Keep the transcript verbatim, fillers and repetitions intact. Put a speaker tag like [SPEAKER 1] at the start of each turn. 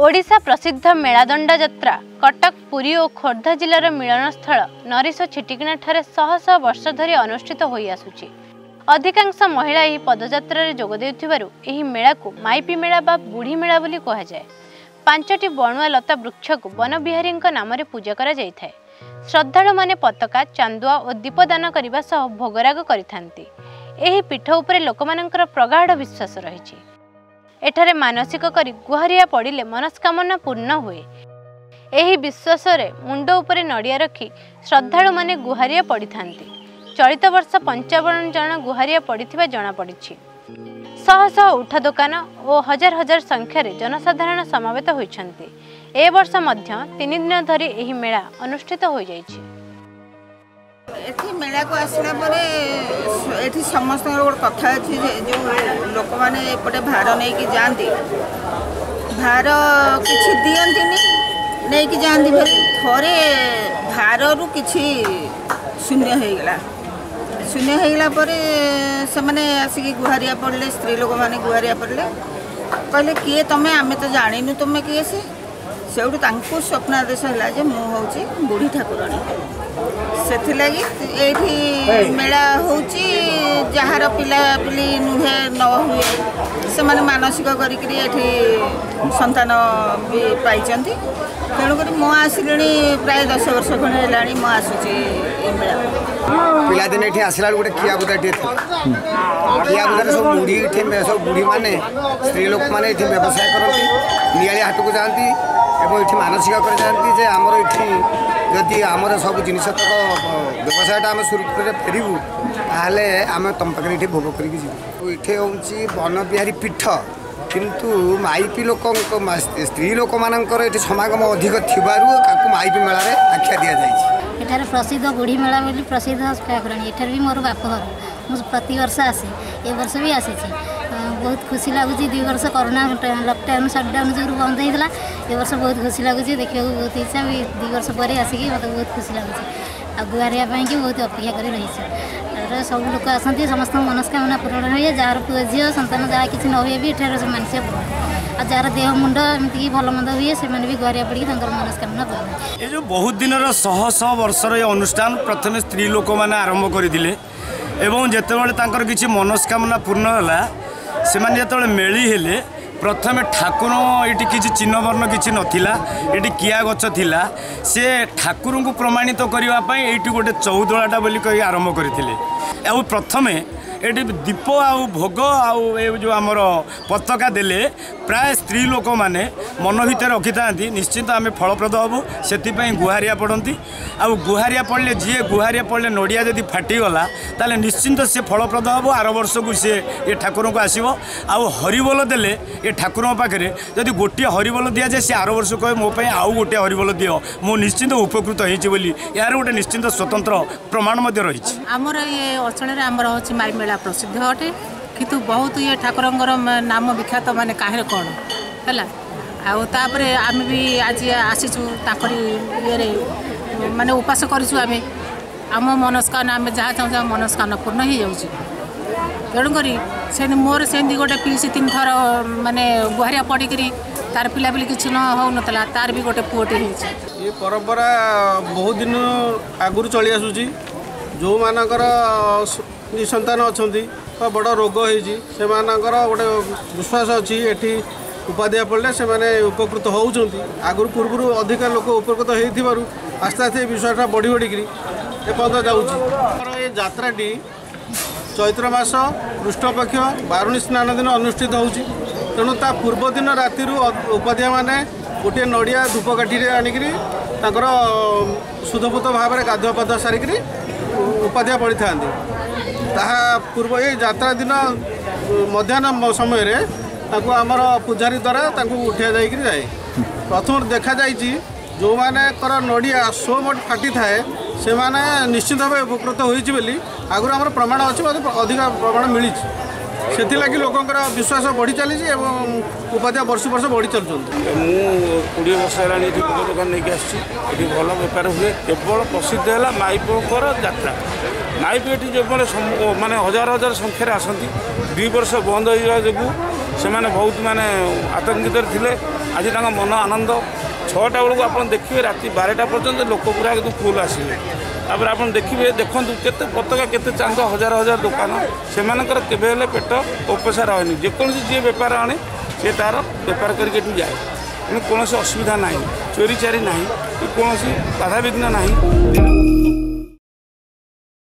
[SPEAKER 1] ଓଡ଼ିଶା ପ୍ରସିଦ୍ଧ ମେଳାଦଣ୍ଡା ଯାତ୍ରା କଟକ, ପୁରୀ ଓ ଖୋର୍ଦ୍ଧା ଜିଲ୍ଲାର ମିଳନସ୍ଥଳ ନରିଶ ଛିଟିକିଣାଠାରେ ଶହ ଶହ ବର୍ଷ ଧରି ଅନୁଷ୍ଠିତ ହୋଇଆସୁଛି। ଅଧିକାଂଶ ମହିଳା ଏହି ପଦଯାତ୍ରାରେ ଯୋଗ ଦେଉଥିବାରୁ ଏହି ମେଳାକୁ ମାଇପି ମେଳା ବା ବୁଢ଼ୀ ମେଳା ବୋଲି କୁହାଯାଏ। ପାଞ୍ଚଟି ବଣୁଆ ଲତା ବୃକ୍ଷକୁ ବନବିହାରୀଙ୍କ ନାମରେ ପୂଜା କରାଯାଇଥାଏ। ଶ୍ରଦ୍ଧାଳୁମାନେ ପତାକା, ଚାନ୍ଦୁଆ ଓ ଦୀପ ଦାନ କରିବା ସହ ଭୋଗରାଗ କରିଥାନ୍ତି। ଏହି ପୀଠ ଉପରେ ଲୋକମାନଙ୍କର ପ୍ରଗାଢ଼ ବିଶ୍ୱାସ ରହିଛି। ଏଠାରେ ମାନସିକ କରି ଗୁହାରିଆ ପଡ଼ିଲେ ମନସ୍କାମନା ପୂର୍ଣ୍ଣ ହୁଏ। ଏହି ବିଶ୍ୱାସରେ ମୁଣ୍ଡ ଉପରେ ନଡ଼ିଆ ରଖି ଶ୍ରଦ୍ଧାଳୁମାନେ ଗୁହାରିଆ ପଡ଼ିଥାନ୍ତି। ଚଳିତ ବର୍ଷ ପଞ୍ଚାବନ ଜଣ ଗୁହାରିଆ ପଡ଼ିଥିବା ଜଣାପଡ଼ିଛି। ଶହ ଶହ ଉଠା ଦୋକାନ ଓ ହଜାର ହଜାର ସଂଖ୍ୟାରେ ଜନସାଧାରଣ ସମାବେତ ହୋଇଛନ୍ତି। ଏ ବର୍ଷ ମଧ୍ୟ ତିନି ଦିନ ଧରି ଏହି ମେଳା ଅନୁଷ୍ଠିତ ହୋଇଯାଇଛି।
[SPEAKER 2] ଏଠି ମେଳାକୁ ଆସିଲା ପରେ ଏଠି ସମସ୍ତଙ୍କର ଗୋଟେ କଥା ଅଛି ଯେ ଯେଉଁ ଲୋକମାନେ ଏପଟେ ଭାର ନେଇକି ଯାଆନ୍ତି, ଭାର କିଛି ଦିଅନ୍ତିନି, ନେଇକି ଯାଆନ୍ତି ଭାରି। ଥରେ ଭାରରୁ କିଛି ଶୂନ୍ୟ ହେଇଗଲା। ଶୂନ୍ୟ ହେଇଗଲା ପରେ ସେମାନେ ଆସିକି ଗୁହାରିଆ ପଡ଼ିଲେ, ସ୍ତ୍ରୀ ଲୋକମାନେ ଗୁହାରିଆ ପଡ଼ିଲେ, କହିଲେ କିଏ ତମେ, ଆମେ ତ ଜାଣିନୁ ତୁମେ କିଏ। ସେ ସେଇଠୁ ତାଙ୍କୁ ସ୍ୱପ୍ନାଦେଶ ହେଲା ଯେ ମୁଁ ହେଉଛି ବୁଢ଼ୀ ଠାକୁରାଣୀ। ସେଥିଲାଗି ଏଇଠି ମେଳା ହେଉଛି। ଯାହାର ପିଲାପିଲି ନୁହେଁ, ନ ହୁଏ, ସେମାନେ ମାନସିକ କରିକିରି ଏଠି ସନ୍ତାନ ବି ପାଇଛନ୍ତି। ତେଣୁକରି ମୁଁ ଆସିଲିଣି ପ୍ରାୟ ଦଶ ବର୍ଷ ଖଣ୍ଡେ ହେଲାଣି ମୁଁ ଆସୁଛି ଏ ମେଳା।
[SPEAKER 3] ପିଲାଦିନେ ଏଠି ଆସିଲା ବେଳକୁ ଗୋଟେ କିଆବୁଦାଟିଏ ଥିଲା। କିଆବୁଦାରେ ସବୁ ବୁଢ଼ୀ, ଏଠି ସବୁ ବୁଢ଼ୀମାନେ, ସ୍ତ୍ରୀ ଲୋକମାନେ ଏଠି ବ୍ୟବସାୟ କରନ୍ତି, ନିଆଳି ହାଟକୁ ଯାଆନ୍ତି ଏବଂ ଏଠି ମାନସିକ କରିଯାଆନ୍ତି ଯେ ଆମର ଏଠି ଯଦି ଆମର ସବୁ ଜିନିଷ ତକ ବ୍ୟବସାୟଟା ଆମେ ସୁରୁଖୁରୁରେ ଫେରିବୁ, ତାହେଲେ ଆମେ ତୁମ ପାଖରେ ଏଠି ଭୋଗ କରିକି ଯିବୁ। ଏଠି ହେଉଛି ବନବିହାରୀ ପୀଠ, କିନ୍ତୁ ମାଇପି ଲୋକଙ୍କ, ସ୍ତ୍ରୀ ଲୋକମାନଙ୍କର ଏଠି ସମାଗମ ଅଧିକ ଥିବାରୁ ତାକୁ ମାଇପି ମେଳାରେ ଆଖ୍ୟା ଦିଆଯାଇଛି।
[SPEAKER 4] ଏଠାରେ ପ୍ରସିଦ୍ଧ ବୁଢ଼ୀ ମେଳା ବୋଲି ପ୍ରସିଦ୍ଧ ଠାକୁରାଣୀ। ଏଠାରେ ବି ମୋର ବାପଘର, ମୁଁ ପ୍ରତିବର୍ଷ ଆସେ, ଏ ବର୍ଷ ବି ଆସିଛି। ବହୁତ ଖୁସି ଲାଗୁଛି। ଦୁଇ ବର୍ଷ କରୋନା ଲକଡାଉନ୍ ସଟଡାଉନ୍ ଯୋଗୁଁ ବନ୍ଦ ହେଇଥିଲା, ଏ ବର୍ଷ ବହୁତ ଖୁସି ଲାଗୁଛି, ଦେଖିବାକୁ ବହୁତ ଇଚ୍ଛା ବି। ଦୁଇ ବର୍ଷ ପରେ ଆସିକି ମୋତେ ବହୁତ ଖୁସି ଲାଗୁଛି ଆଉ ଗୁହାରିଆ ପାଇଁକି ବହୁତ ଅପେକ୍ଷା କରି ରହିଛି। ତାପରେ ସବୁ ଲୋକ ଆସନ୍ତି, ସମସ୍ତଙ୍କ ମନସ୍କାମନା ପୂରଣ ହୁଏ। ଯାହାର ପୁଅ ଝିଅ ସନ୍ତାନ ଯାହା କିଛି ନ ହୁଏ ବି ଏଠାରେ ମାନସିକ ପୂରଣ, ଆଉ ଯାହାର ଦେହ ମୁଣ୍ଡ ଏମିତିକି ଭଲ ମନ୍ଦ ହୁଏ ସେମାନେ ବି ଗୁହାରିଆ ପଡ଼ିକି ତାଙ୍କର ମନସ୍କାମନା ପୂରଣ।
[SPEAKER 5] ଏ ଯେଉଁ ବହୁତ ଦିନର ଶହ ଶହ ବର୍ଷର ଏ ଅନୁଷ୍ଠାନ ପ୍ରଥମେ ସ୍ତ୍ରୀ ଲୋକମାନେ ଆରମ୍ଭ କରିଥିଲେ ଏବଂ ଯେତେବେଳେ ତାଙ୍କର କିଛି ମନସ୍କାମନା ପୂର୍ଣ୍ଣ ହେଲା, ସେମାନେ ଯେତେବେଳେ ମେଳି ହେଲେ, ପ୍ରଥମେ ଠାକୁର ଏଇଠି କିଛି ଚିହ୍ନବର୍ଣ୍ଣ କିଛି ନଥିଲା, ଏଠି କିଆ ଗଛ ଥିଲା। ସେ ଠାକୁରଙ୍କୁ ପ୍ରମାଣିତ କରିବା ପାଇଁ ଏଇଠି ଗୋଟେ ଚଉଦଳାଟା ବୋଲି କହି ଆରମ୍ଭ କରିଥିଲେ। ଆଉ ପ୍ରଥମେ ଏଠି ଦୀପ ଆଉ ଭୋଗ ଆଉ ଏ ଯେଉଁ ଆମର ପତାକା ଦେଲେ ପ୍ରାୟ ସ୍ତ୍ରୀ ଲୋକମାନେ ମନ ଭିତରେ ରଖିଥାନ୍ତି ନିଶ୍ଚିନ୍ତ ଆମେ ଫଳପ୍ରଦ ହେବୁ, ସେଥିପାଇଁ ଗୁହାରିଆ ପଡ଼ନ୍ତି। ଆଉ ଗୁହାରିଆ ପଡ଼ିଲେ, ଯିଏ ଗୁହାରିଆ ପଡ଼ିଲେ ନଡ଼ିଆ ଯଦି ଫାଟିଗଲା ତାହେଲେ ନିଶ୍ଚିନ୍ତ ସେ ଫଳପ୍ରଦ ହେବ, ଆର ବର୍ଷକୁ ସିଏ ଏ ଠାକୁରଙ୍କୁ ଆସିବ। ଆଉ ହରିବୋଲ ଦେଲେ ଏ ଠାକୁରଙ୍କ ପାଖରେ ଯଦି ଗୋଟିଏ ହରିବୋଲ ଦିଆଯାଏ, ସେ ଆର ବର୍ଷ କହିବେ ମୋ ପାଇଁ ଆଉ ଗୋଟିଏ ହରିବୋଲ ଦିଅ, ମୁଁ ନିଶ୍ଚିନ୍ତ ଉପକୃତ ହେଇଛି ବୋଲି। ଏହାର ଗୋଟେ ନିଶ୍ଚିନ୍ତ ସ୍ୱତନ୍ତ୍ର ପ୍ରମାଣ ମଧ୍ୟ ରହିଛି।
[SPEAKER 6] ଆମର ଏ ଅଞ୍ଚଳରେ ଆମର ହେଉଛି ମାଇ ମେଳା ପ୍ରସିଦ୍ଧ ଅଟେ, କିନ୍ତୁ ବହୁତ ଇଏ ଠାକୁରଙ୍କର ନାମ ବିଖ୍ୟାତ, ମାନେ କାହିଁରେ କ'ଣ ହେଲା। ଆଉ ତାପରେ ଆମେ ବି ଆଜି ଆସିଛୁ ତାଙ୍କରି ଇଏରେ, ମାନେ ଉପାସ କରିଛୁ ଆମେ। ଆମ ମନସ୍କାମନା, ଆମେ ଯାହା ଚାହୁଁଛୁ ଆମ ମନସ୍କାମନା ପୂର୍ଣ୍ଣ ହେଇଯାଉଛି। ତେଣୁକରି ସେମିତି ମୋର ସେମିତି ଗୋଟେ ପିଇସି ତିନି ଥର ମାନେ ଗୁହାରିଆ ପଡ଼ିକିରି ତାର ପିଲାପିଲି କିଛି ନ ହେଉନଥିଲା, ତାର ବି ଗୋଟେ ପୁଅଟେ ହେଇଛି।
[SPEAKER 7] ଏ ପରମ୍ପରା ବହୁତ ଦିନ ଆଗରୁ ଚଳି ଆସୁଛି। ଯେଉଁମାନଙ୍କର ନିସନ୍ତାନ ଅଛନ୍ତି ବା ବଡ଼ ରୋଗ ହେଇଛି, ସେମାନଙ୍କର ଗୋଟେ ବିଶ୍ୱାସ ଅଛି ଏଠି ଉପାଧିଆ ପଡ଼ିଲେ ସେମାନେ ଉପକୃତ ହେଉଛନ୍ତି। ଆଗରୁ ପୂର୍ବରୁ ଅଧିକା ଲୋକ ଉପକୃତ ହେଇଥିବାରୁ ଆସ୍ତେ ଆସ୍ତେ ଏ ବିଶ୍ୱାସଟା ବଢ଼ି ବଢ଼ିକିରି ଏପର୍ଯ୍ୟନ୍ତ ଯାଉଛି। ଆମର ଏ ଯାତ୍ରାଟି ଚୈତ୍ର ମାସ କୃଷ୍ଣପକ୍ଷ ବାରୁଣୀ ସ୍ନାନ ଦିନ ଅନୁଷ୍ଠିତ ହେଉଛି। ତେଣୁ ତା ପୂର୍ବ ଦିନ ରାତିରୁ ଉପାଧ୍ୟାୟମାନେ ଗୋଟିଏ ନଡ଼ିଆ ଧୂପକାଠିରେ ଆଣିକିରି ତାଙ୍କର ଶୁଦ୍ଧପୁତ ଭାବରେ ଗାଧୁଆ ପାଧୁଆ ସାରିକିରି ଉପାଧ୍ୟାୟ ପଡ଼ିଥାନ୍ତି। ତାହା ପୂର୍ବ ଏଇ ଯାତ୍ରା ଦିନ ମଧ୍ୟାହ୍ନ ସମୟରେ ତାଙ୍କୁ ଆମର ପୂଜାରୀ ଦ୍ୱାରା ତାଙ୍କୁ ଉଠିଆ ଯାଇକିରି ଯାଏ। ପ୍ରଥମରୁ ଦେଖାଯାଇଛି ଯେଉଁମାନଙ୍କର ନଡ଼ିଆ ସୋମଟ ଫାଟିଥାଏ ସେମାନେ ନିଶ୍ଚିନ୍ତ ଭାବେ ଉପକୃତ ହୋଇଛି ବୋଲି ଆଗରୁ ଆମର ପ୍ରମାଣ ଅଛି, ମଧ୍ୟ ଅଧିକା ପ୍ରମାଣ ମିଳିଛି। ସେଥିଲାଗି ଲୋକଙ୍କର ବିଶ୍ୱାସ ବଢ଼ି ଚାଲିଛି ଏବଂ ଉପାଧ୍ୟାୟ ବର୍ଷ ବର୍ଷ ବଢ଼ି ଚାଲୁଛନ୍ତି।
[SPEAKER 8] ମୁଁ କୋଡ଼ିଏ ବର୍ଷ ହେଲାଣି ଏଠି ଭୋଗ ଦୋକାନ ନେଇକି ଆସିଛି। ଏଠି ଭଲ ବେପାର ହୁଏ। କେବଳ ପ୍ରସିଦ୍ଧ ହେଲା ମାଇପଙ୍କର ଯାତ୍ରା। ମାଇପ ଏଠି ଯେଭଳି ମାନେ ହଜାର ହଜାର ସଂଖ୍ୟାରେ ଆସନ୍ତି। ଦୁଇ ବର୍ଷ ବନ୍ଦ ହୋଇଯିବା ଯୋଗୁଁ ସେମାନେ ବହୁତ ମାନେ ଆତଙ୍କିତରେ ଥିଲେ। ଆଜି ତାଙ୍କ ମନ ଆନନ୍ଦ। ଛଅଟା ବେଳକୁ ଆପଣ ଦେଖିବେ, ରାତି ବାରଟା ପର୍ଯ୍ୟନ୍ତ ଲୋକ ପୁରା ଏକଦମ ଫୁଲ୍ ଆସିବେ। ତାପରେ ଆପଣ ଦେଖିବେ, ଦେଖନ୍ତୁ କେତେ ପତାକା, କେତେ ଚାନ୍ଦ, ହଜାର ହଜାର ଦୋକାନ। ସେମାନଙ୍କର କେବେ ହେଲେ ପେଟ ଓପସା ରହେନି। ଯେକୌଣସି ଯିଏ ବେପାର ଆଣେ, ସେ ତା'ର ବେପାର କରିକି ଏଠୁ ଯାଏ। ତେଣୁ କୌଣସି ଅସୁବିଧା ନାହିଁ, ଚୋରି ଚାରି ନାହିଁ କି କୌଣସି ବାଧାବିଘ୍ନ ନାହିଁ।